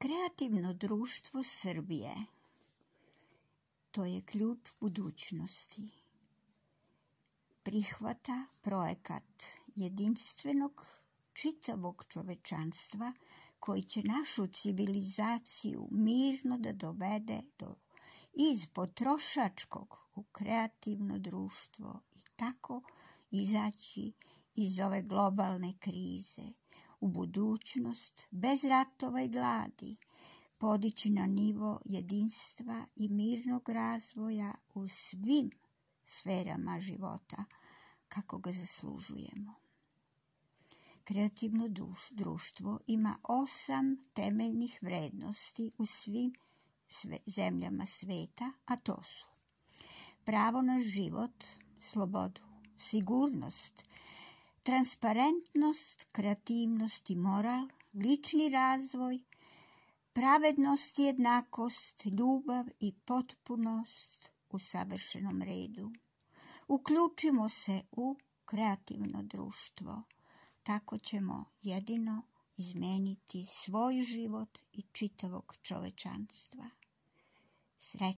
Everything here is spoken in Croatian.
Kreativno društvo Srbije, to je ključ budućnosti. Prihvata projekat jedinstvenog čitavog čovečanstva koji će našu civilizaciju mirno da dovede iz potrošačkog u kreativno društvo i tako izaći iz ove globalne krize u budućnost bez ratova i gladi, podići na nivo jedinstva i mirnog razvoja u svim sferama života kako ga zaslužujemo. Kreativno društvo ima 8 temeljnih vrednosti u svim zemljama sveta, a to su pravo na život, slobodu, sigurnost, transparentnost, kreativnost i moral, lični razvoj, pravednost i jednakost, ljubav i potpunost u savršenom redu. Uključimo se u kreativno društvo. Tako ćemo jedino izmeniti svoj život i čitavog čovečanstva. Srećno!